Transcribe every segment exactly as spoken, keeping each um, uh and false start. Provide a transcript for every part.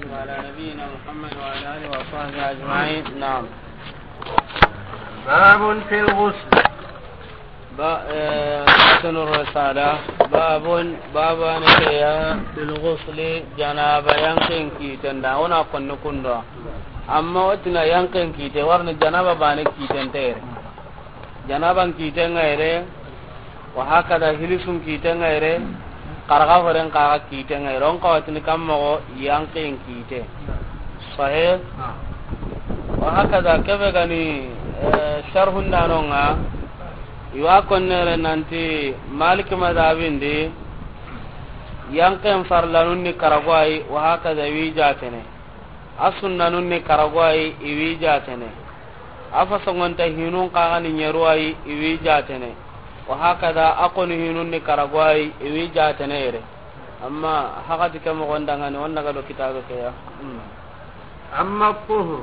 وعلى نبينا محمد وعلى آله وصحبه أجمعين. نعم. باب في الغسل. Ba, eh, matnu risala. Babun, babu an ke ya, fil ghusli, janaba yanqen kiiten da, o na konni kundo. Amma o ti na yanqen kiite, warni janaba baane kiiten te yere. Janaban kiiten ŋa yere, wa hakada hilisun kiiten ŋa yere, xaraxa horen xaxa kiiten ŋa yere, o n xawa tini kan moxo yanqen kiite. Sahih? Wa hakada kebe ga ni, eh, sharhun da no ŋa, i wa konnere nanti Malik madhabin di, yanqen farlanun ni karago ayi, wa hakada wi jaatene. A sunnanun ni karago ayi, i wi jaatene. A fasongonta hinun xaxa ni ɲeru ayi, i wi jaatene. Wa hakada, a koni hinun ni karago ayi, i wi jaatene yere. Amma hakati ke moxon da ŋa ni, o n daga do kitabe ke ya. Hmm. أما الطهر.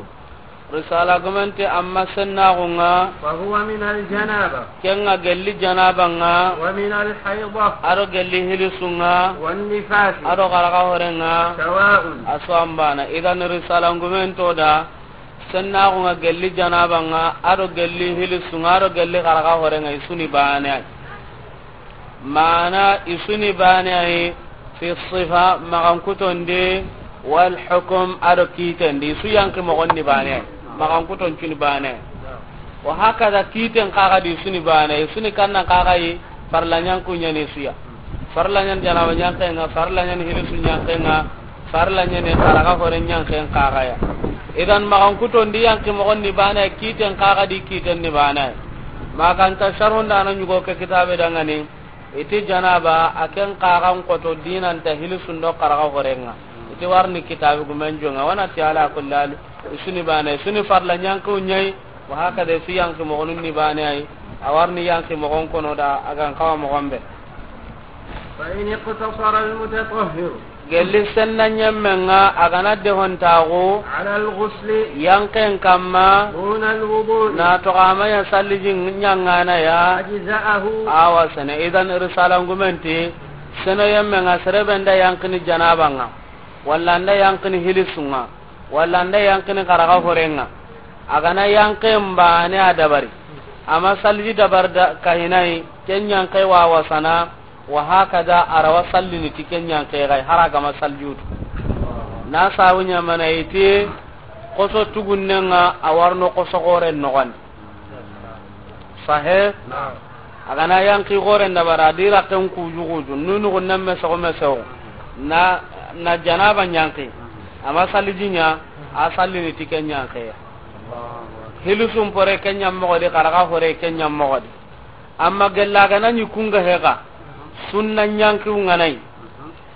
Risala gumen ti amma sennaxu ŋa. فهو من الجنابة. Ken ŋa gelli janaba ŋa. ومن الحيضة. A do gelli hilisu ŋa. والنفاس. A do xaraxa hore ŋa. سواء. A su an baana. Idan risala gumen to da, sennaxu ŋa gelli janaba ŋa, a do gelli hilisu ŋa, a do gelli xaraxa hore ŋa, i su ni baane ayi. Maana i su ni baane ayi, fi sifa, maxankuton di, wal hukum, a do kiiten di, i su yanqi moxon ni baane ayi, maxankuton cu ni baane ayi. Wa hakada kiiten xaxa di i su ni baane ayi, i su ni kannan xaxa yi, farla ɲanqu ɲa ni i su ya. Farla ɲa ni janaba yanqen ŋa, farla ɲa ni hilisu yanqen ŋa, farla ɲa ni xaraxa hore yanqen xaxa ya. Idan maxankuton di yanqi moxon ni baane ayi, kiiten xaxa di kiiten ni baane ayi. Maxa nta sharhun da na ɲugo ke kitabe da ŋa ni, i ti janaba a ken xaxan xoto dinanta hilisun do xaraxa horen ŋa. I ti warni kitabe gumen jonŋa, wa na ti ala kulli hal, i su ni baane ayi, i su ni farla yanqu ɲa yi, wa hakada i su yanqi moxonun ni baane ayi, a warni yanqi moxon kono da, a ga n xawa moxon be. فإن اقتصر المتطهر. Gelli senna ɲemmen ŋa a ga na dehontaxu. على الغسل. Yanqen kamma. دون الوضوء. Na toxo a ma ɲa salliji ɲaŋana ya. أجزأه. A wa sene. Idan risala gumen ti, seno yemmen ŋa sere be n da yanqini janaba ŋa, walla n da yanqini hilisu ŋa, walla n da yanqini xaraxa hore ŋa. A ga na yanqen baane a dabari, a ma salliji dabari da kahinayi, ken yanqe wa wasana, wa hakada a ra wa sallini ti ken yanqe xa yi, hari a ga ma salliji wutu. Na sabu ɲa mane i ti, xoso tugunnen ŋa a warno xoso xoren noxon di. Sahih? Naam. A ga na yanqi xoren dabari, a di raqqen kuju kuju, nunuxun nan me soxo me soxo. Na, na janaba yanqi. A ma salliji ɲa, a sallini ti ken yanqe ya. Hilisun pore ken ɲa moxo di, xaraxa hore ken ɲa moxo di. Amma gella ga na ɲi kun ga he xa, sunna yanqiw ŋa na yi.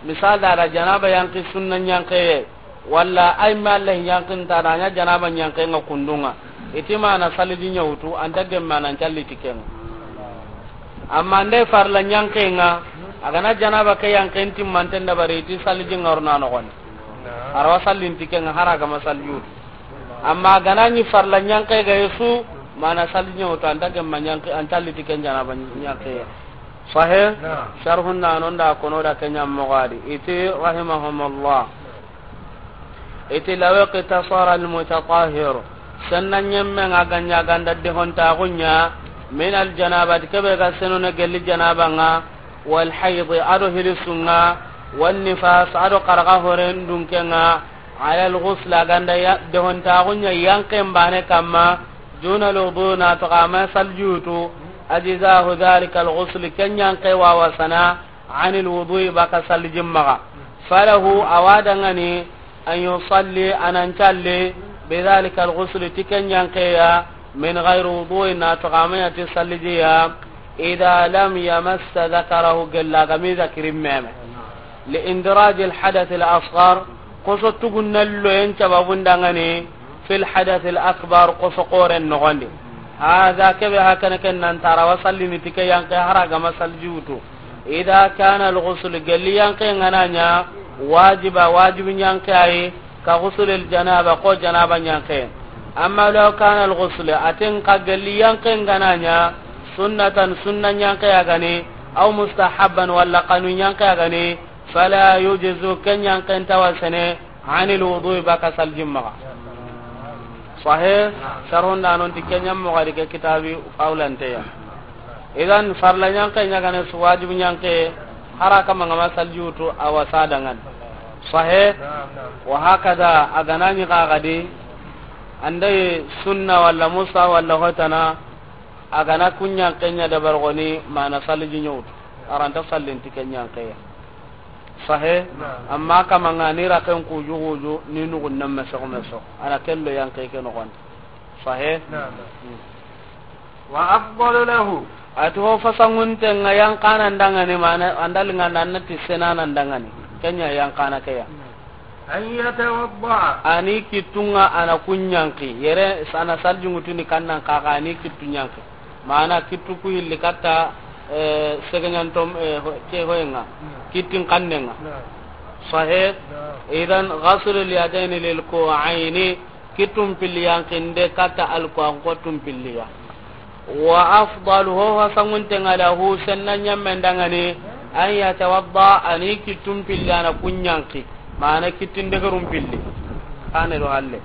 Misal da, a da janaba yanqi sunna yanqe ye, walla ay ma Allah yanqin ta da ɲa janaba yanqen ŋa kundun ŋa. I ti ma na salliji ɲa wutu, an ta gemme a na n calli ti ken ŋa. Amma n da farla yanqen ŋa, a ga na janaba ke yanqen timmanten dabari, i ti salliji ŋa ro na noxon di. A ra wa sallini ti ken ŋa, hari a ga ma salliji wutu. Amma a ga na ɲi farla yanqe ga yi su, ma na salliji ɲa wutu, an ta gemme a yanqi, an calli ti ken janaba yanqe ya. Sahih? Naam. Sharhun na no n da kono da ken ɲa moxo di. I ti rahimahumullah. I ti law iqtasara al-mutatahhir. Senna ɲemmen ŋa ga ɲa ga n da dehontaxu ɲa, min al-janabati, kebe ga seno ne gelli janaba ŋa, wal hayd, a do hilisu ŋa, wan nifas, a do xaraxa horen dunken ŋa, ala al-ghusl, a ga n da ya, dehontaxu ɲa yanqen baane kamma, duna al-wudu, na toxo a ma salliji wutu, ajzahu dhalika al-ghusl, ken yanqe wa wasana, anil wudu'i, baka sallijin maxa. Falahu, a wa dangani, an yusalli, a na n calli, bidhalika al-ghusl, ti ken yanqe ya, min ghayri wudu'in, na toxo a ma ɲa ti salliji ya, idha lam yamassa dhakarahu, gella ga mi zakirin meme. Li indiraj al-hadath al-asghar, xoso tugunnen loyen sababun dangani, fil hadath al-akbar, xoso xoren noxon di. Hadha, kebe hakana ken nan tara wa sallini ti ke yanqe hari a ga ma salliji wutu. Idha kana al-ghusl, gelli yanqe ŋa na ɲa, wajiba, wajibi yanqe ayi, ka ghusl al-janaba, ko janaba yanqe. Amma law kana al-ghusl, a ti n xa gelli yanqe ŋa na ɲa, sunnatan, sunna yanqe ya ga ni, aw mustahabban, walla xanu yanqe ya ga ni, fala yujzu, ken yanqen nta wasene, Anil wudu, baka saljin maxa. Sahe, sarhun da non ti ke ɲa moxo di ke kitabi fawlanteya. Idan farla ɲanke ɲa gane su, wajibi ɲanke, hara kama ngama salji wutu a wasa dangani. Sahe, wa hakada a gana ɲi xa gadi, anda yi sunna walla musa walla hotana, a gana ku ɲanke ɲa dabar goni mana salji ɲa wutu. Aranta sallin ti ke ɲanke ya. Sahe, amma kama ngani raken kuju kuju ni nugun nan meso meso. Ana kello yanke ke no gon. Sahe. Wa afdalu lahu. Ati ho fasangunte nga yankana ndangani mana andal nga nanna ti senana ndangani. Kenya yankana ke ya. An yatawadda. Ani kittunga ana kunyanki. Yere sana salji ngutuni kannan kaka ani kittunyanki. Mana kittu ku hilli katta, eh, segenyantom, eh, ho-, ke hoyenga. Kittin kannenga. Sahe. Idan ghaslu al-yadayni lil ku'ayni, kittun pilli yankinde katta alkuwan kottun pilliya. Wa afdalu, ho hasanguntenga lahu, senna ɲammen dangani, an yatawadda, ani kittun pilli ana kunyanki. Mana kittin degerun pilli. Kane do halle.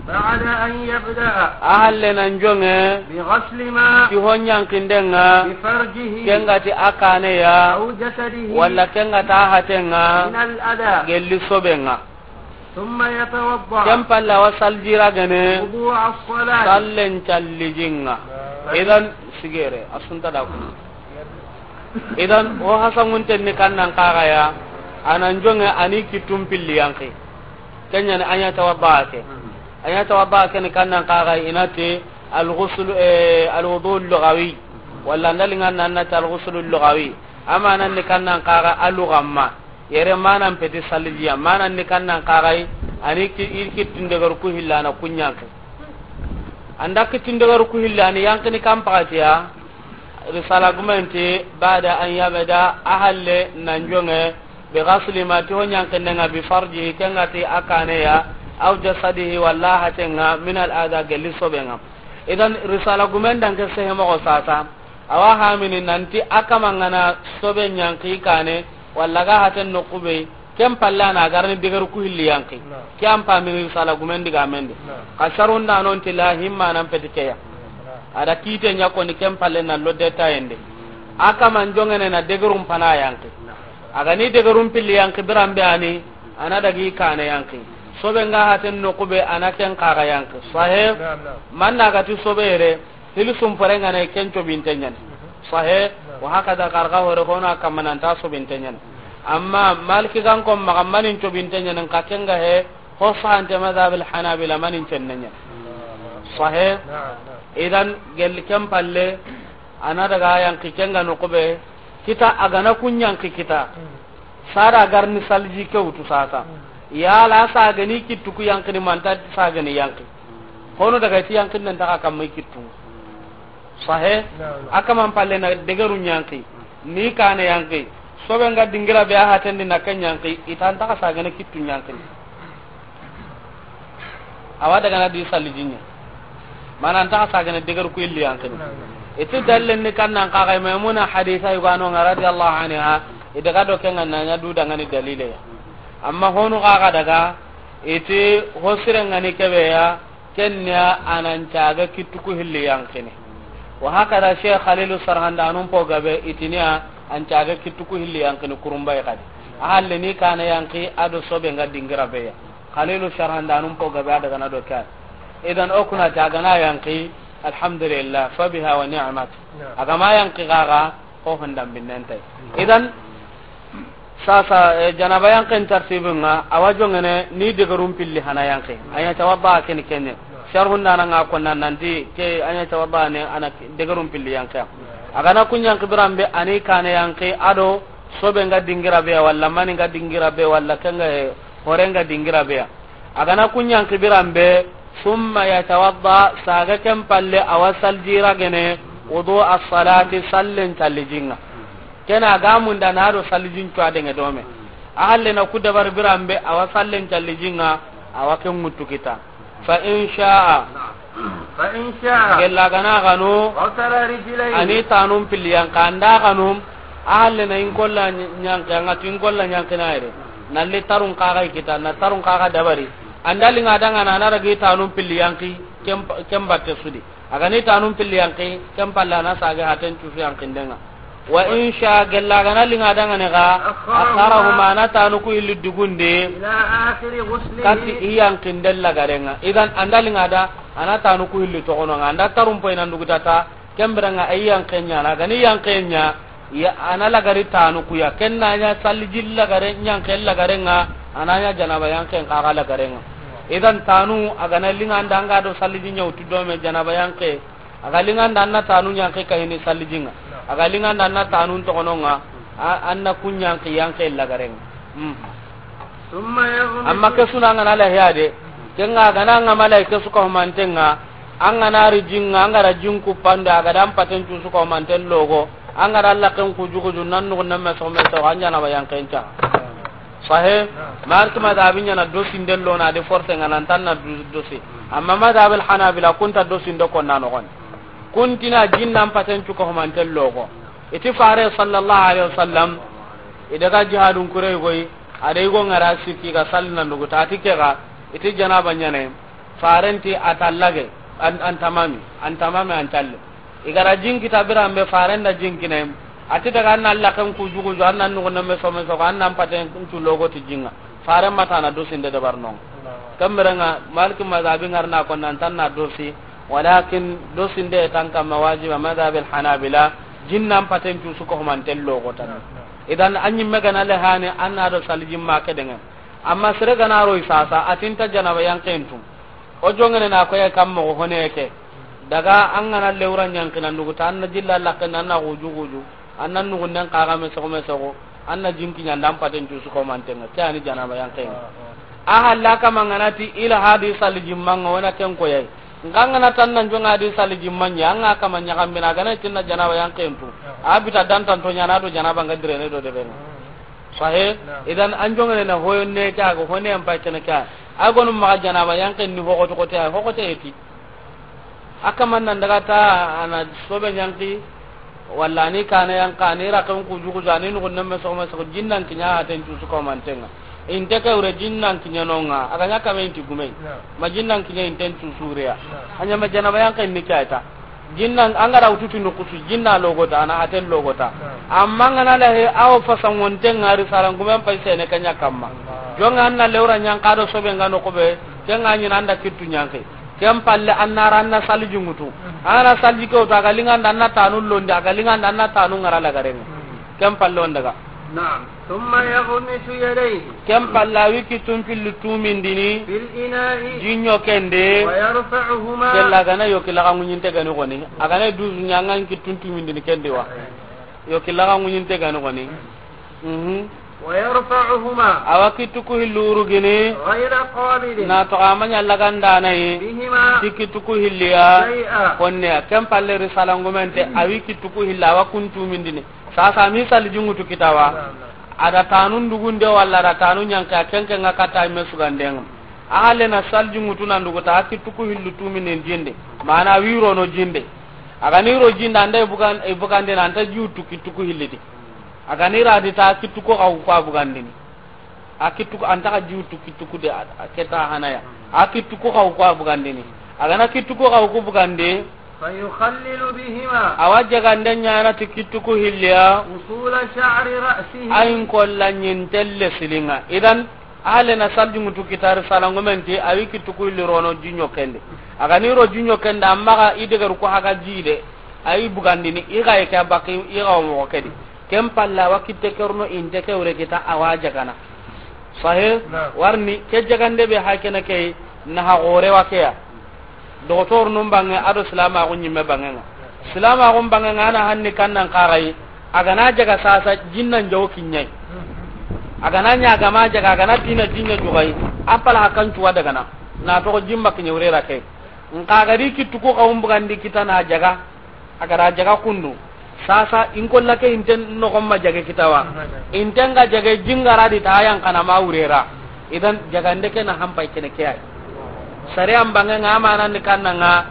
Ba'da an yabda'a. A halle nan jonge. Bi ghasli ma. Ti ho ɲankindenga. Bi farjihi. Kengati a kaneya. Aw jasadihi. Walla kengata a hatenga. Min al adha. Gelli sobenga. Thumma yatawadda. Ken palla wa saljira gene. Wudu'a as-salat. Sallen callijinga. Idan sigere, asunta da ku. Idan, o hasangunten ni kannan kaxaya, anan jonge ani kittun pilli yanki. Kenyani anya tawadda ke. Anya tawadda ke ni kannan kaxay inati al-ghusl, eh, al-wudu al-lughawi. Walla ndalingan nan nati al-ghusl al-lughawi. Amanan ni kannan kaxa alugamma. Yere manan peti salijiya. Manan ni kannan kaxay ani ki-, i kittin degar ku hillana kunyanki. Anda kittin degar ku hillani yankini kan pakatiya. Risala gumenti, ba'da an yabda, a halle nan jonge, bi ghasli ma ti ho ɲankindenga, bi farjihi kengati a kaneya, aw jasadihi walla hatenga, min al adha gelli sobenga. Idan risala gumen danke sehe moxo sasa, awa hamini nanti a kamangana sobe ɲanki kane, walla ga haten no kube, Ken palle ana garni degeru ku hilli yanki. Ke an pamini risala gumen diga mendi. Ka sarunda non ti la himma nan peti keya. Ada kite ɲa koni ken palle na lodde tayende. A kaman jongene na degerun pana yanki. Aga ni degerun pilli yanki birambe ani, ana dagi kane yanki. Sobe nga haten no kube ana ken kaga yanki. Sahe, manna gati sobe yere. Hili sumpore ngana ken cobinte ɲani. Sahe, wa hakada karga hore hono a kamma nanta sobinte ɲani. Amma Maliki gan ko maga manin cobinte ɲani, nka kenga he, ho sahante madhab al Hanabila manin cenne ɲani. Sahe, idan gelli ken palle, ana daga yanki kenga no kube, kita agana kun yanki kita. Sada garni salji ke wutu sasa. Yala sagani kittu ku yankini manta sagani yanki. Hono daga ti yankin nan taka kamma kittu. Sahe, a kaman palle na degeru ɲanki, ni kane yanki, sobe nga dingira be a hatendi na ken yanki, itan taka sagane kittu ɲanki. Awa daga na di salli jinye. Mana an taka sagane degeru ku illi yanki. Iti dallen ni kannan kaga Maimuna hadisa yugano nga radiyallahu anha, i daga do kenga nanya du dangani dalile ya. Amma honu kaga daga, iti hosire ngani kebe ya, Kenya anan caga kittu ku hilli yankini. Wa hakada Sheikh Khalilu Sarhandanun po gabe itiniya an caga kittu ku hilli yankini kurumbay kadi. A halle ni kana yanki ado sobe nga dingira beya. Khalilu Sarhandanun po gabe adaga na do kar. Idan okuna caga na yanki, alhamdulillah, fa biha wa ni'mat. Agama yanki gaga, ko hondan binnentai. Idan, Sasa, eh, janaba yanken tartibin nga, awa jongene ni degerun pilli hana yanke. Anya tawadda ken kenne. Sharhun dana nga konna nanti ke anya tawadda ne ana degerun pilli yanke. Agana kun yanke birambe ani kane yanke ado sobe nga dingira be walla mani nga dingira be walla kenga, eh, hore nga dingira be. Agana kun yanki birambe, summa yatawadda, saga ken palle awa saljira gene, wudu as-salati, sallen callijinga. Kena ga munda na do saljin cuwa denge dome. A halle na ku dabar birambe awa sallen callijinga, awa ken ŋuttu kita. Fa in sha'a. Fa in sha'a. Gella gana ganu. Ghasala rijlayhi. Ani tanum pilli yanka anda ganum. A halle na in kolla nyanke, anga tin kolla nyanke na ire. Na li tarun kaga i kita, na tarun kaga dabari. An da linga danga na, a na ragi tanun pilli yanki, ken, ken batte su di. A ga ni tanun pilli yanki, ken palle a na sage haten cusu yankindenga. Wa in sha, gella a ga na linga danga ne ga, akharahuma, a na tanu ku hilli dugunde, ila akhiri ghuslihi, kati i yankinden lagarenga. Idan an da linga da, a na tanu ku hilli togononga, an da tarun poy nan dugutata, ken birenga a yi yanke ɲana, a ga ni yanke ɲa, ya, a na lagari tanu ku ya, ken na ɲa saliji lagare, yanke lagarenga, a na ɲa janaba yanken kaga lagarenga. Idan tanu, a ga na linga nda anga do saliji ɲa wutu do me janaba yanke, a ga linga nda a na tanu yanke kahini salijinga, a ga linga nda a na tanu togononga, a, a na kun yanke, yanke lagarenga. Hmm. Amma ke su na an ga na lahiya de, ken ga a ga na an ga malaika su ko mantenga, an ga na ri jinga, an ga ra jinku panda, a ga da an paten cu su ko manten logo, an ga ra laken ku jugu ju nan nugu nan me so me so, an janaba yanken ca. Sahe, Malik madhabi ɲana dosi nden lo na de force nga nan tan na du-, dosi. Amma madhab al Hanabila kunta dosi ndo ko na no gon. Kuntina jinnan paten cu ko manten logo. Iti fare sallallahu alaihi wasallam, i daga jihadun kure goy, a da i go ngara sikki ga salli nan dugu ta ti ke ga, iti janaba ɲane, farenti a tallage, an, an tamami, an tamami an talle. I ga ra jinki ta biran be faren da jinkine, a ti daga an na laken ku jugu ju, an na nugu na me so me so, an na paten cu logo ti jinga. Faren ma ta na dosi nde dabar non. Kamberenga, Maliki mazhabi ngar na ko nan tan na dosi, walakin dosi nde tan kamma wajiba madhab al Hanabila, jinnan paten cu su ko manten logo tan. Idan an ɲimme ga na le hane, an na do salijin ma ke denga. Amma sere ga na ro i sasa, a tinta janaba yanken tu. O jongene na ko ya kam mo hone ke. Daga an ga na lewra ɲankinan dugu ta, an na jilla laken, an na guju guju, an na nugunden kaga me sogo me sogo, an na jinki ɲa nda an paten cu su ko mantenga, ke ani janaba yanken. A halla kama nga na ti ila hadi salijin manga wona ken ko yayi. Nga nga na tan nan jonga hadi salijin manya, an ga kama ɲa kambina ga na tinna janaba yanken tu. A bita dan tan to ɲana do janaba nga direne do de bena. Sahe, idan an jongene na hoyo ne ka go hone an pa kene ka. A gonu maga janaba yanken ni hogo to kote, hogo te eti. A kaman nan daga ta a na sobe ɲanki, walla ni kana yanka, ni rakan ku jugu jani, nugu nemme sogo me sogo, jinnan kiɲa haten cu su ko mantenga. Inte ke wure jinnan kiɲa nonga, a ga ɲa kame inti gume. Ma jinnan kiɲa inten cu su reya. A ɲa ma janaba yanken ni kayta. Jinnan, an ga ra wutu ti nukusu, jinna logota, a na haten logota. Amma nga na lahe, awo fasangonte ngari sarangumen pay sene kanya kamma. Jonga an na lewra ɲanka do sobe nga no kobe, ken ga ɲina an da kittu ɲanke. Ken palle an na ra an na saliji ŋutu. An na saliji ke wutu, a ga linga nda an na tanu londi, a ga linga nda an na tanu ngara lagarenga. Ken palle on daga. Naam. Thumma yaghmisu yadayhi. Ken palla wi kittun pilli tumindini. Fil ina'i. Jinyo kende. Wa yarfa'uhuma. Kella gana yoki laga ŋuɲinte gani goni. A gana dusu ɲangan kittun tumindini kendi wa. Yoki laga ŋuɲinte gani goni. Mhm. Wa yarfa'uhuma. Awa kittu ku hillu urugini. Ghayra qabidin. Na to amanya lagandana yi. Bihima. Ti kittu ku hilliya. Shay'a. Konne ken palle risalangumente awi kittu ku hilla awa kun tumindini. Sasa mi saliji ŋutu kitawa. A da tanun dugunde walla a da tanu ɲanke a kenke nga katta me sugandenga. A halle na saliji ŋutu nan duguta a kittu ku hillu tuminen jinde. Mana wiro no jinde. A ga ni ro jinde anda i bugan-, i bugandina anta jiwtu kittu ku hillidi. A ga ni ra di ta kittu ku xawu ku a bugandini. A kittu ku, anta xa jiwtu kittu ku de, a, a keta hanaya. A kittu ku xawu ku a bugandini. A ga na kittu ku xawu ku bugandi. Fa yukhallilu bihima. Awa jagande ɲana ti kittu ku hilliya. Usula sha'ri ra'sihi. Ayin kolla ɲintelle silinga. Idan, ahale na salji ŋutu kitari salangomenti, awi kittu ku hilli rono jinyo kende. A ga ni ro jinyo kende, amma ga i degeru ku haga jide. Ayi bugandini, i ga i ke baki, i ga wo mogo kedi. Ken palla wa kitte kerno inte ke wure kita awa jagana. Sahe, naam. Warni ke jagande be hakene ke na ha gore wa ke ya. Doktor nun bange ado silama ko nyimme bange nga. Silama ko bange nga na hanni kannan kagai. A ga na jaga sasa jinnan jawo kinyai. A ga na nya ga ma jaga, a ga na tina jinya jugai. Apala hakan cuwa daga na. Na to jimba kinya wure ra ke. Nka ga di kittu ko kawum bugandi kita na jaga. A ga ra jaga kundu. Sasa in kolla ke inten no gomma jage kitawa. Inten ga jage jingara di ta yan kana ma wurera. Idan jagande ke na hampai kene ke ay. Sare an bange nga amana ni kanna nga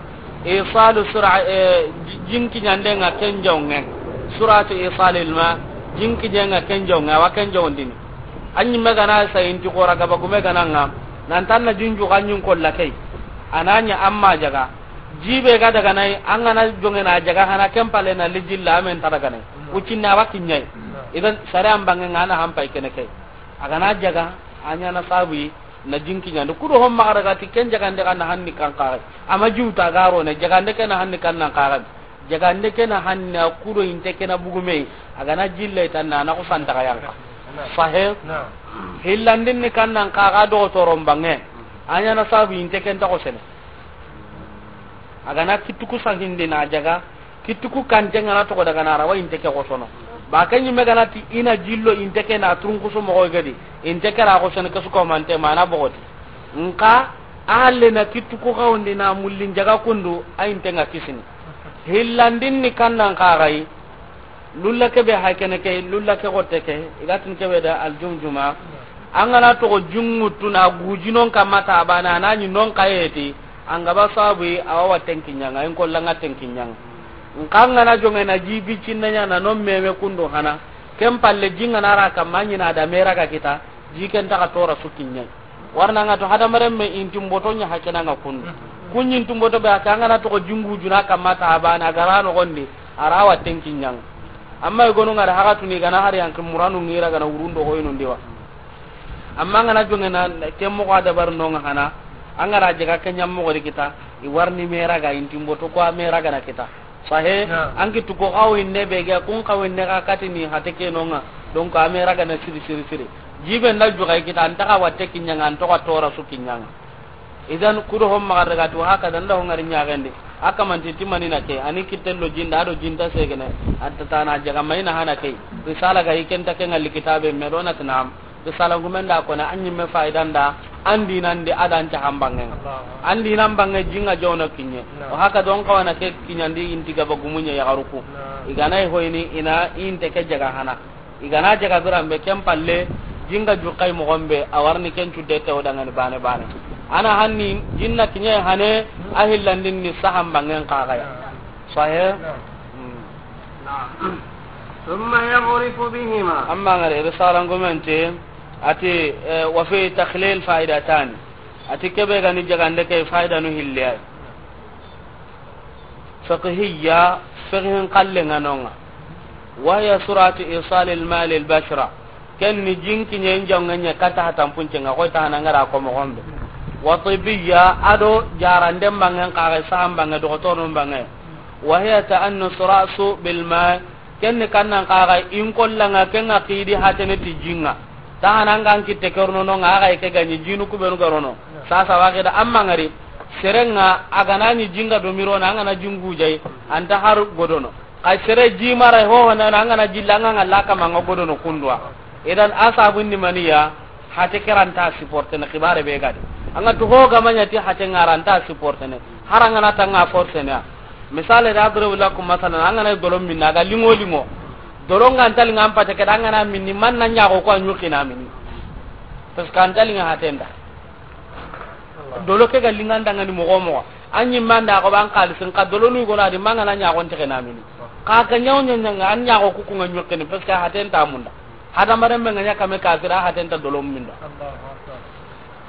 isalu sura, eh, ji-, jinki nyande nga kenjonge. Suratu isalil ma jinki je nga kenjonge wa kenjondini. An ɲimme ga na sa inti xora gaba gume ga na ŋa, nan tan na jinju ga ɲin kolla key. A na ɲa an ma jaga. Jibe ga daga nay, an ga na jonŋe na jaga hana ken pale na lijilla amen ta daga nay. Ucinna wa kiɲay. Idan sare an banŋe ŋa na hampay kene key. A ga na jaga, a ɲa na sabu yi, na jinki ɲandi. Kudo hon maxa daga ti ken jagande ga na hanni kan xaxe. Ama jiwta ga ro ne, jagande ke na hanni kan nan xaxe. Jagande ke na hanna kudo inte ke na bugume, a ga na jille tan na, na ko santa ga yanka. Sahe. Hillandin ni kan nan ka ga dogotoron banŋe. A ɲa na sabu inte ken ta ko sene. A ga na kittu ku sahindi na jaga, kittu ku kante ŋa na togo daga na rawa inte ke ko sono. Ba ke ɲimme ga na ti i na jillo inte ke na turun kusu moxo gadi, inte ke ra ko sene ke su ko mante mana bogoti. Nka a halle na kittu ku xawndi na mullin jaga kundu, a inte ŋa kisini. Hillandin ni kan nan xaxayi, lulla ke be hay kene ke, lulla ke gotte ke, i ga tin ke be da aljumjuma. An ga na togo jinŋutu na gujinon kamma ta bana na ɲi non kayeti, an ga ba sabu yi, a wa watten kiɲaŋa, in kolla ŋa ten kiɲaŋa. Nka an ga na jonŋe na jibi cinna ɲa na non meme kundu hana, ken palle jinŋa na ra kamma ɲi na da mera ga kita, ji ken ta ga tora su kiɲaŋa. Warna ŋa to hadamaren me intin boto ɲa hakena ŋa kundu. Kuɲin tun boto be a ka ŋa na togo jingu juna kamma ta bana gara no gondi a ra watten kiɲaŋa. Amma i gonu ŋa da haga tuni ga na hari yanki muranu ŋira ga na wurundo ko inu ndiwa. Amma ŋa na jonŋe na ken moxo a dabar no ŋa hana. An ga ra jaga ke ɲam moxo di kita, i warni mera ga intin boto ko a mera ga na kita. Sahe. An kittu ko xawinde be ga kun xawinde ga katini hate ke no ŋa. Donc a mera ga na siri siri siri. Jibe nda juga i kita an ta ga watte kiɲaŋa, an to ga tora su kiɲaŋa. Idan kudo hon maxa daga to haka dan da hon ŋari ɲaxendi. A kamanti timani na ke, ani kittello jinda, ado jinta segene. An ta tana jaga mayna hana ke. Risala ga i ken ta ke ŋalli kitabe me do na tinam. Risala gumen da kona an ɲimme faidan da, an dinan di adan ta hambanŋe. An dinan banŋe jinŋa jawna kiɲe. O haka don kawana ke kiɲandi inti gaba gumunye ya garuku. I ga na i hoyni ina inte ke jaga hana. I ga na jaga biran be ken palle, jinga jukkay moxon be, a warni ken cudde te o dangani bane bane. Ana hanni, jinna kiɲe hane, a hillandin ni sahan banŋen xaxaya. Sahe? Hmm. ثم يغرف بهما. Amma ngare, risalan gumente, ati, eh, وفيه تخليل فائدتان. Ati kebe gani jagande ke faidanu hilliyay. Fiqhiyya, fiqhin kallenŋa nonŋa. وهي سرعة إيصال الماء للبشرة. Ken ni jinkiɲen jawnŋe ɲa kata hatanpuncenŋa, koy ta hana ngara ko moxon be. وطبية, ado jaranden banŋen xaxe, sahan banŋe, doxotorun banŋe. وهي تأنس رأس بالماء. Ken ni kannan xaxa in kollanŋa, ken ŋa xidi hatene ti jinŋa. Ta hana an ga n kitte ke rono nonŋa, a ga i ke ga ɲi jinu kubenu ga rono. Sasa wa xida amma ngari, serenŋa a ga na ɲi jinga do mirona, an ga na jingu jay, an ta har godono. Xa sere ji mara ho ho na, an ga na jilla, an ga ŋalla kama an ga godono kunduwa. Idan a sabun ni maniya, hate ke ra nta supportene xibare be gadi. An ga tu ho ga ma ɲa ti hate ŋa ra nta supportene. Har an ga na tanga forcene ya. Misale da adribu lakum masalan, an ga na dolo minna, a ga lingo lingo. Dolo nga nta linga an pate ke da, an ga na minni, man na ɲaxo ko a ɲuxina mini. Parce que an ta linga hatenda. Dolo ke ga linga ndangani moxo moxo. An ɲi manda ko ban xalisin ka dolo nu gona di, man ga na ɲaxo nte ke na mini. Ka ga ɲaw ɲa ɲa nga an ɲaxo ku ku nga ɲuxini, parce que hatenta munda. Hadamaren be nga ɲa kame kafira, hatenta dolo minda.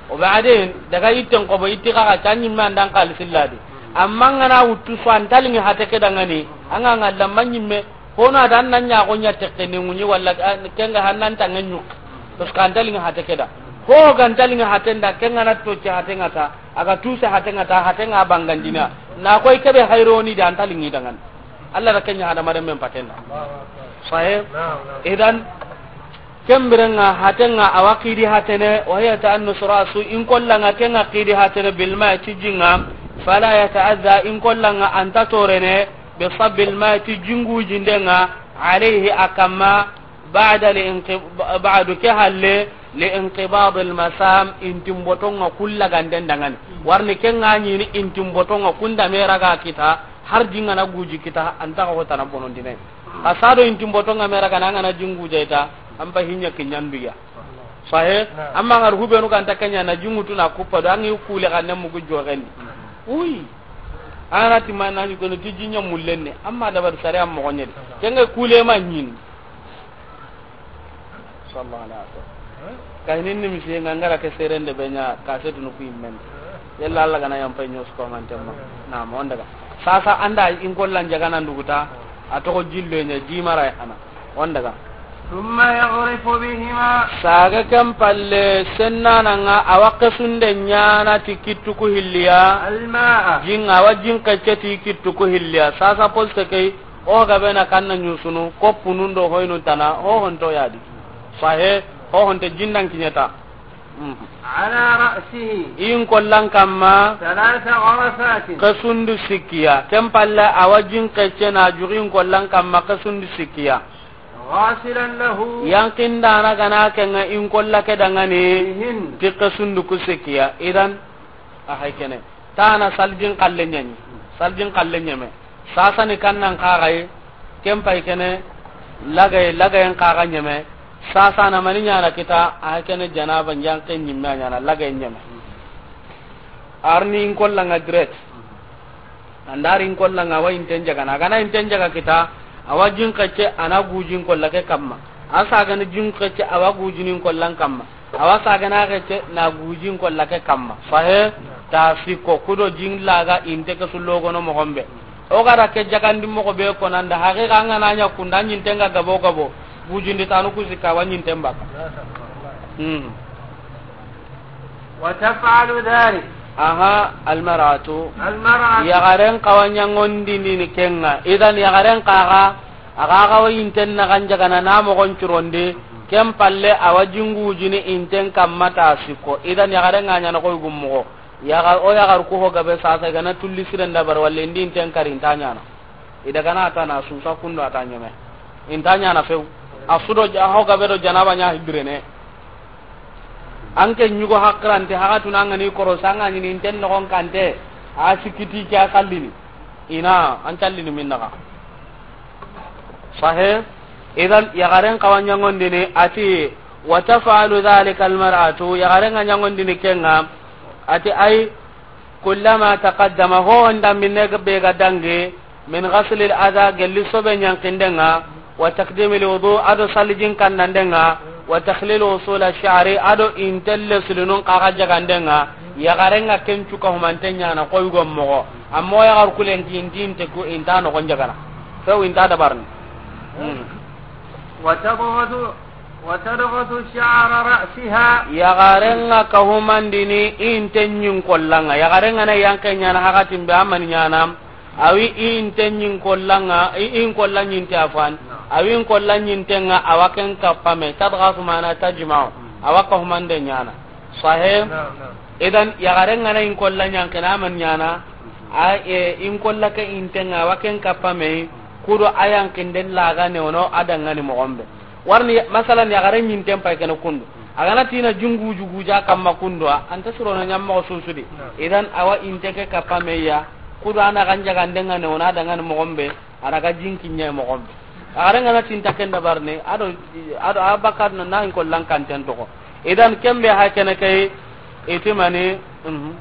O be aden daga itten ko bo itti xaxa can ɲimme andan xalisi ladi. Amma nga na wuttu so an ta lingi hate ke dangani, an ga nga lamma ɲimme, hono adan nan ɲaxo ɲa tekke ni ŋuɲi walla, ah, kenga hannan ta nga ɲuk. Parce que an ta lingi hate ke da. Ho ga an ta lingi hate nda, kenga na tocce hate nga ta, a ga tuse hate nga ta, hate nga bangandina. Na koy kebe hayroni da an ta lingi dangani. Allah da kenya hadamaren men patenda. Sahe. Idan, Kembirenga hatenga awa xidi hatene, وهي تأنس رأس, in kollanga kenga xidi hatene, بالماء, ti jinga, فلا يتأذى, in kollanga anta torene, بصب الماء, ti jingu jindenga, عليه, a kamma, بعد الانق-، بعد, ke halle, لانقباض المسام, intimbotonga kulla ganden dangani. Warni kenga ɲini intimbotonga kunda meraga kita, har jinga na guji kita, anta ko tana bonondine. Xa sado intimbotonga mera kana, an ga na jingu jayta, an pa hinya kinyanduya. Sahe. Amma ngar hubenu kan ta kenya na jingu tuna kuppa do, an yi kule kan ne mugu jogendi. Uy. Ana ti man na ni kono ti jinya mullenne, amma da bar sare am mo gonyedi. Kenga kule ma nyin. Sallallahu alaihi wasallam. Ka hinin nimisi nga ngara ke serende be ɲa ka setunu ku yimmen. Yalla Allah gana yampa ɲo su ko manten ma. Na mo ndaga. Sasa an da in kollan jagana nduguta. A toxo jillo ɲa jimara ana. On daga. ثم يغرف بهما. Saage ken palle sennananga a wa kesunde ɲana ti kittu ku hilliya. الماء. Jin, a wa jin kecce ti kittu ku hilliya. Sasa poste key, o gabe na kanna ɲusunu, koppunun do hoynu tana, ho honto yadi. Sahe, ho honte jindan kiɲeta. Mhm. على رأسه. In kollan kamma. ثلاث غرفات. Kesundu sikkiya. Ken palle a wa jin kecce na jugi in kollan kamma kesundu sikkiya. غاسلا له. Yankin dana gana kenga in kolla ke dangani. بهن. Ti kesundu ku sikkiya. Idan, a hay kene. Tana saljin kalle ɲani. Saljin kalle ɲeme. Sasani kannan kaxay, ken pay kene, lagay, lagayen kaxa ɲeme. Sasana mani ɲana kita, a kene janaba ɲanke ɲimme a ɲana, lagayen ɲeme. Arni in kollanga direct. Andari in kollanga wa inten jagana. Agana inten jaga kita, a wa jin kecce, a na gujin kolla ke kamma. A sagani jin kecce, a wa gujinin kollan kamma. A wa sagana kecce na gujin kolla ke kamma. Sahe, ta sikko kudo jin laga inte ke sullogono moxon be. O gara ke jagandi moxo be konanda, haqiqa an gana ɲa kunda ɲinten ga gabo gabo. Gujindi tanu ku sikka wa ɲinten baka. Hmm. وتفعل ذلك. Aha, المرأة. المرأة. Yagaren kawa ɲangondini ni kenga. Idan yagaren kaga, aga kawa inten na kan jagana na mogon curondi. Ken palle a wa jin gujini inten kamma ta sikko. Idan yagaren ga ɲana koy gummogo. Yaga, o yagar ku ho gabe sasa gana tulli siren dabar walle indi inten kari inta ɲana. I daga na ta na susa kundo a ta ɲeme. Inta ɲana few. A sudo ja ho gabe do janaba ɲa hibirene. An ke ɲugo hakirante, haga tuna an gani korosa, an ga ɲini inten nogon kante, a sikiti ke a sallini. Ina, an callini min daga. Sahe, idan, yagaren kawa ɲangondini, ati, وتفعل ذلك المرأة, yagaren ga ɲangondini kenga, ati, ay, كلما تقدم, ho honda minne be ga dangi, من غسل الأذى, gelli sobe ɲankindenga, وتقديم الوضوء, ado salijin kannandenga, وتخليل وصول الشعر, ado intelle sulunun kaga jagandenga, yagarenga ken cuka humante ɲana koy gommogo. Amma o yagar kulen ki inti inte ku inta nogon jagana. Few inta dabarni. Hmm. وتضغط وتضغط شعر رأسها. Yagarenga kahumandini inte ɲin kollanga. Yagarenga na yanke ɲana hakatin be amani ɲana. Awi inte ɲin kollanga, i-, in kolla ɲinte afan. Awi in kolla ɲintenga awa ken kappame. تضغط معنى تجمع. Awa kahumande ɲana. Sahe? Naam, naam. Idan, yagarenga na in kolla ɲankina amani ɲana. A, e, in kolla ke intenga awa ken kappame. Kudo a yankinden laga ne wono a dangani mogon be. Warni, masalan, yagare ɲinten pay kene kundu. A gana tina jungu jugu ja kamma kundu, a anta sirono ɲammoxo susudi. Idan, awa inte ke kappa meya, kudo ana ganja gandenga ne wona dangani moxon be, a daga jinki ɲe moxon be. Yagare ngana tinta ken dabarni, ado, ado a bakar na, na in kollan kanten toxo. Idan, kembe ha kene kay, itimani, mhm.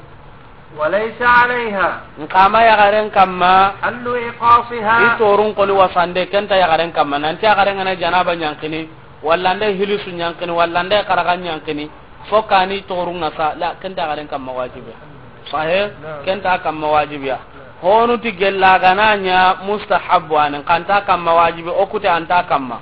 وليس عليها. Nkama yagaren kamma. حل إقاصها. I torun koni wasande, kenta yagaren kamma. Nanti yagaren ngana janaba ɲankini, walla nde hilisu ɲankini, walla nde karaga ɲankini. Fo kani torun ngasa, la, kenta yagaren kamma wajibi. Sahe, naam, kenta kamma wajibiya. Honu ti gella gana ɲa mustahabu anin, kanta kamma wajibi, okute anta kamma.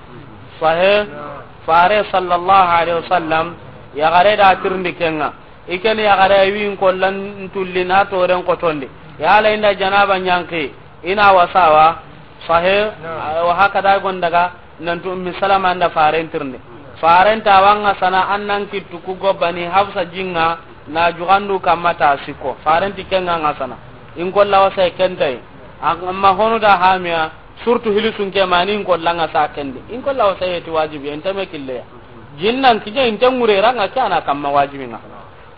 Sahe, naam, Fare sallallahu alaihi wasallam, yagare da tirindi kenga. I ken yagare wi in kollan tulli na toren kotondi. Yala inda janaba ɲanki, ina wasawa, sahe, naam, wa hakada gondaga, nantu Ummi Salama anda faren tirindi. Faren ta wanga sana annan kittu ku gobani Hafsa jinga na jugandu kamma ta siko. Faren ti kenga nga sana. In kolla wasa kentai. Amma honu da hamiya, surtu hilisun ke mani in kolla nga sa kendi. In kolla wasa yeti wajibi, entame killeya. Jinnan kije inte ngure ranga ke ana kamma wajibi nga.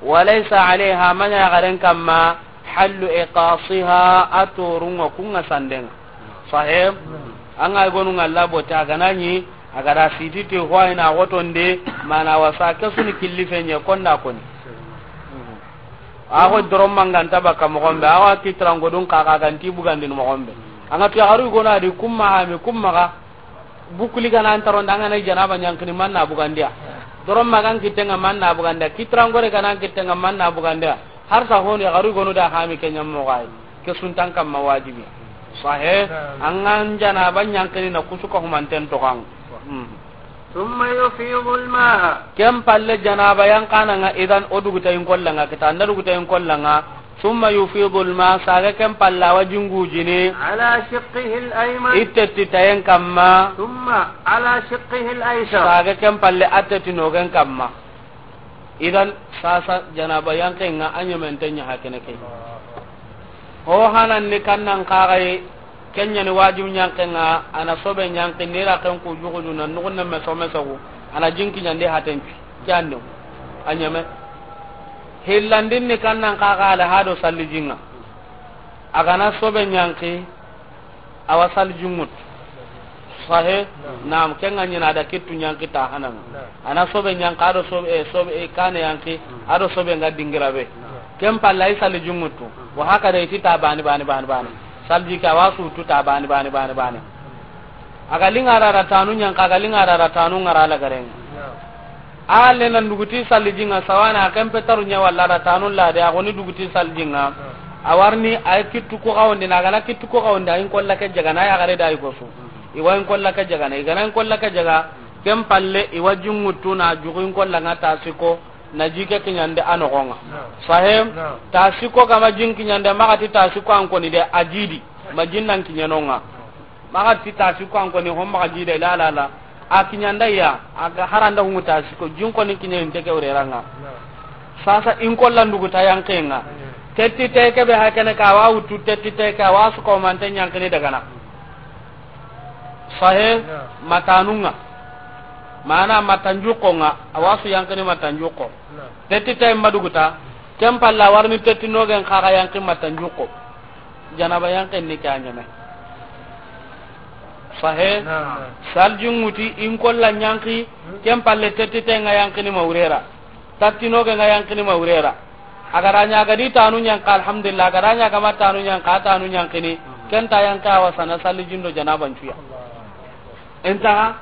وليس عليها, manya garen kamma, حل إقاصها, a torunga kunga sandenga. Sahib, anga gonu ngalla bota ganani, agara sititi ho ina wotonde, mana wasa kesuni killi fenye konda koni. A ko doron manganta baka moxon be, awa kitrango dun kaka ganti bugandin moxon be. Anga tu yagaru gona di kumma hami, kumma ga, bukuli gana antaronda, angana janaba ɲankini manna bugandiya. Doron magan kitten ŋa man na bugandi, kitirangore ga nan kitten ŋa man na bugandi. Har sa honu ya garu gonu da hami ke ɲammo ga yi. Ke suntan kamma wajibi. Sahe, an ga janaba ɲankini na kusu ka humanten to kan. Hmm. ثم يفيض الماء. Ken palle janaba yanqana ŋa, idan o duguta in kolla ŋa, kita anda duguta in kolla ŋa. ثم يفيض الماء, saga ken palle a wa jingujini. على شقه الأيمن. I tetti tayen kamma. ثم على شقه الأيسر. Saga ken palle a tetti nogen kamma. Idan sasa janaba yanqe ŋa a ɲamentenya hakene ke. Ho hanan ni kannan kaxaye, kenya ni wajib ɲanqe ŋa, ana sobe ɲanqi ni ra ken ku juxuju na nuxunne meso meso ku, ana jinki ɲandi hatenpi. Ke ande a ɲame. Hillandin ni kannan kaxa ala hado sallijin ŋa. A ga na sobe ɲanqi, a wa sallijin ŋutu. Sahe? Naam, ken ŋa ɲi na a da kittu ɲanqi ta hanan ŋa. A na sobe ɲanqi, a do sobe, eh, sobe, eh, kane yanqi, a do sobe ŋa dingira be. Ken palle a yi sallijin ŋutu. Wa haka da i ti ta bani, bani, bani, bani. Salliji ke a wa sutu ta bani, bani, bani, bani. A ga linga ra ra tanu ɲanqi, a ga linga ra ra tanu ŋa ra la garen ŋa. A le nan duguti sallijin ŋa sawana, a ken pe taru ɲa walla ra tanu la de, a goni duguti sallijin ŋa. A warni a yi kittu ko xawondi, na a ga na kittu ko xawondi, a yi in kolla ke jaga na, a yi yaxare da a yi gosu. I wa in kolla ke jaga na, i ga na in kolla ke jaga, ken palle i wa jin ŋutu na juxu in kolla ŋa ta siko, na ji ke kiɲande a noxon ŋa. Sahe? Ta siko ga ma jin kiɲande, maxa ti ta siko an koni de, a ji di, ma jin nan kiɲe no ŋa. Maxa ti ta siko an koni, hon maxa ji de, la, la, la. A kiɲanda ya, a ga haranda hungu ta siko, jin koni kiɲe inte ke wure ra ŋa. Sasa in kolla ndugu ta yanqe ŋa. Tetti te ke be hakene ka wa wutu, tetti te ke a wa su ko mante ɲanqini daga na. Sahe? Ma tanu ŋa. Mana ma tanjuxo ŋa, a wa su yanqini ma tanjuxo. Tetti te ma duguta, ken palle a warni tetti nogen kaxa yanqi ma tanjuxo. Janaba yanqen ni ke a ɲame. Sahe? Naam. Sallijin ŋuti in kolla ɲanqi, ken palle tetti te ŋa yanqini ma wure ra. Tetti nogen ŋa yanqini ma wure ra. A ga ra ɲa a ga di tanu ɲanqi, alhamdulillah, a ga ra ɲa a ga ma tanu ɲanqi, a tanu ɲanqini. Ken ta yanqi a wa sana sallijin do janaban cuya. Intaha,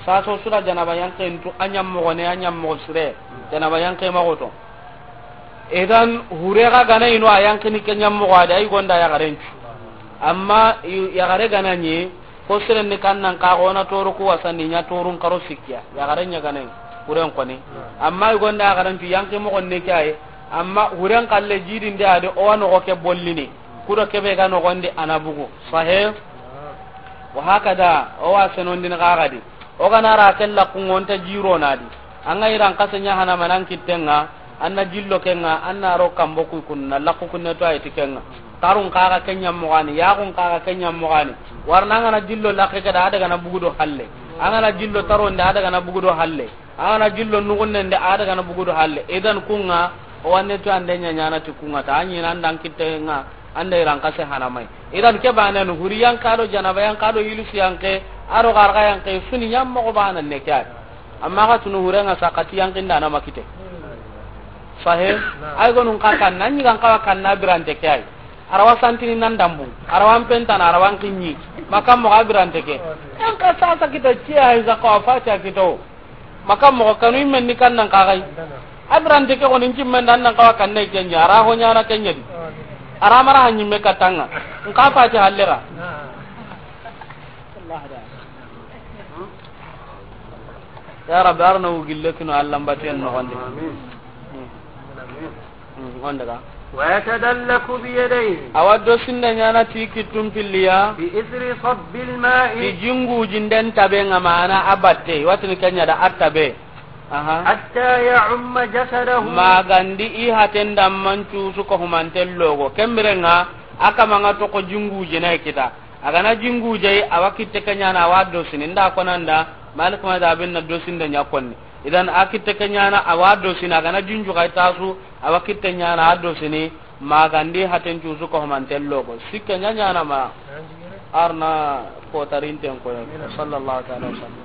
saso sura janaba yanqen tu, a ɲammoxo ne, a ɲammoxo sire, janaba yanqe maxo to. Idan, hure ga gana ino a yanqini ke ɲammoxo a de, a yi gonda yaxaren cu. Amma i-, yaxare gana ɲi, ko siren ni kannan ka xona toru ku wasandi ɲa torun karo sikkiya, yaxare ɲa gana yi, huren koni. Amma i gonda yaxaren cu, yanqi moxon ne ke a yi, amma huren kalle jidinde a de, o wa noxo ke bollini. Kudo kebe ga noxondi a na bugu. Sahe? Wa hakada, o wa senondini xaxadi. O ga na ra ke laqqun ŋa o nta jiro na di. An ga iran kase ɲa hana manan kitten ŋa, an na jillo ken ŋa, an na ro kambo ku kunna, laqqu kunne to a yi ti ken ŋa. Tarun kaxa ke ɲammoxani, yaxun kaxa ke ɲammoxani. Warna an ga na jillo laqqe ke da, a daga na bugu do halle. An ga na jillo taronde, a daga na bugu do halle. A ga na jillo nuxunnen de, a daga na bugu do halle. Idan kun ŋa, o wa nettoyande ɲa ɲana ti kun ŋa ta, a ɲi nan dan kitte ŋa, an da iran kase hana mai. Idan ke banen, huri yanqa do janaba yanqa do yilisu yanqe, a do xarxa yanqe, suni ɲammoxo banan ne ke a yi. Amma xa tunu hure ŋa sakati yanqinda na ma kite. Sahe? Ay gonun xa kanna, ɲi gan xawa kanna birante ke a yi. A ra wa santini nan dambu, a ra wa n pentana, a ra wa n kiɲi. Makan moxo a birante ke. Yanqa sasa kita ciya, ay zaka wa fatiya kito. Makan moxo kanu i men ni kannan kaxay. A birante ke xoni n cimmen da an nan xawa kanne ke ɲa, a ra ho ɲana ke ɲa di. A ra mara ha ɲimme katta ŋa. N xa fati halle ra. Ya Rabbi, arna wugille kino Alla mbatiyen noxondi. Amin. Hmm, on daga. ويتدلك بيديه. A wa do sinde ɲana ti kittun pilliya. بإثر صب الماء. Ti jingujinden tabe ŋa, mana a batte, watini ke ɲa da a tabe. Aha. حتى يعم جسده. Magandi i haten da mancu su ko humanten logo. Kembire ŋa, a kama ŋa to ko jingujine kita. A ga na jinguje, a wa kitte ke ɲana, a wa dosini. Nda konanda, Malik madhabin na dosinde ɲa konni. Idan a kitte ke ɲana, a wa dosini, a ga na jinju xa i tasu, a wa kitte ɲana, a dosini, magandi haten cusu ko humanten logo. Sikke ɲa ɲana ma, arna kotarinten koyo. Sallallahu ta'ala wa sallam.